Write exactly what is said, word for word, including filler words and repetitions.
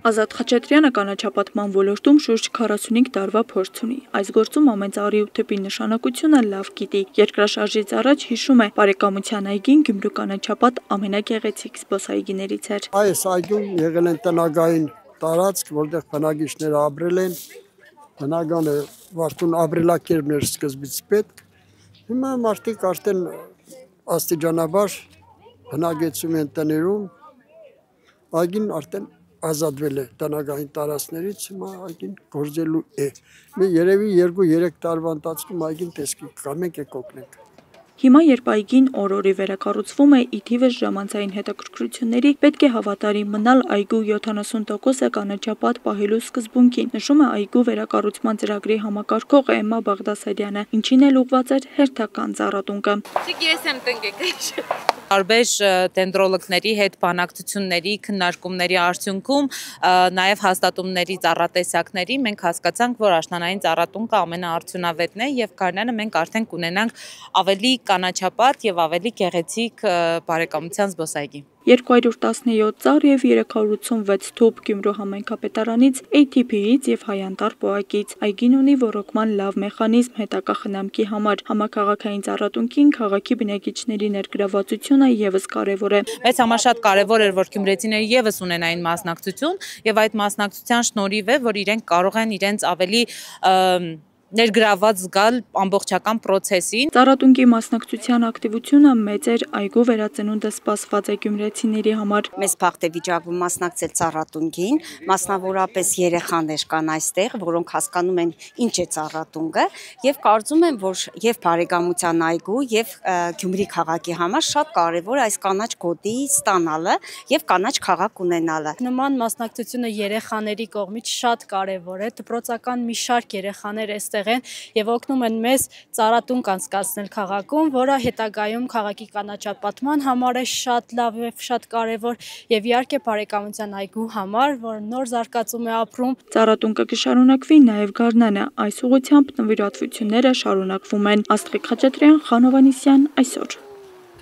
Ազատ Խաչատրյանը կանաչապատման ոլորտում շուրջ քառասունհինգ տարվա փորձ ունի։ Այս գործում ամեն ծառի ու թփի նշանակությունը լավ գիտի։ Երկրաշարժից առաջ հիշում է, բարեկամության այգին Գյումրու կանաչապատ ամենագեղեցիկ զբոսայգիներից էր։ Այս այգում եղել են տնագային տարածք, որտեղ բնակիչները ապրել են, բնական է վարդուն ապրելակերպն էր սկզբից պետք։ Հիմա մարդիկ արդեն աստիճանաբար բնակեցում են տներում, այգին արդեն ազատվել է տնագային տարածքներից, հիմա այգին գործելու է։ Մի երևի երկու-երեք տարվա ընթացքում այգին տեսքի կգա, մենք եք օգնենք։ Հիմա երբ այգին օր-օրի վերակառուցվում է, ի թիվս ժամանցային հետաքրքրությունների, պետք է հավատարիմ մնալ այգու յոթանասուն տոկոսը կանաչապատ պահելու սկզբունքին, նշում է այգու վերակառուցման ծրագրի համակարգող Էմմա Բաղդասարյանը, ինչին էլ ուղղված էր հերթական ծառատունկը։ Տարբեր դենդրոլոգների հետ բանակցությունների, քննարկումների արդյունքում, նաև հաստատումների ծառատեսակների մենք հասկացանք, որ աշնանային ծառատունկը ամենաարդյունավետն է եւ Գարնանը մենք արդեն կունենանք ավելի կանաչապատ եւ ավելի գեղեցիկ բարեկամության զբոսայգի։ երկու հարյուր տասնյոթ ծառ եւ երեք հարյուր ութսունվեց թուփ Գյումրու համայնքապետարանից, A T P-ից եւ Հայանտար պոակից։ Այգին ունի ոռոգման լավ մեխանիզմ հետագա խնամքի համար։ Համաքաղաքային ծառատունկին քաղաքի բնակիչների ներգրավվածությունը եւս կարեւոր է։ Մեծ համար շատ կարեւոր էր, որ գյումրեցիները եւս ունենային մասնակցություն եւ այդ մասնակցության շնորհիվ է, որ իրենք կարող են իրենց ավելի ներգրաված զգալ ամբողջական process-ին։ Ծառատունկի մասնակցության ակտիվությունը մեծ էր, այգու վերածնունդը սպասված է գյումրեցիների համար։ Մեզ բախտ է վիճակվում մասնակցել ծառատունկին, մասնավորապես երեխաներ կան այստեղ, որոնք հասկանում են ինչ է ծառատունկը եւ կարծում եմ, որ եւ բարեկամության այգու եւ Գյումրի քաղաքի համար շատ կարեւոր է այս կանաչ գոտի ստանալը եւ կանաչ քաղաք ունենալը։ Նման մասնակցությունը երեխաների կողմից շատ կարեւոր է, դպրոցական մի շարք երեխաներ այստեղ եւ օգնում են մեզ ծառատունկ անցկացնել քաղաքում, որը հետագայում քաղաքի կանաչապատման համար է շատ լավ եւ շատ կարեւոր եւ իհարկե բարեկամության այգու համար, որ նոր զարգացում է ապրում։ Ծառատունկը կշարունակվի նաեւ Գարնանը, այս ուղղությամբ նվիրատվությունները շարունակվում են։ Աստղիկ Խաչատրյան, Խանովանիսյան, այսօր։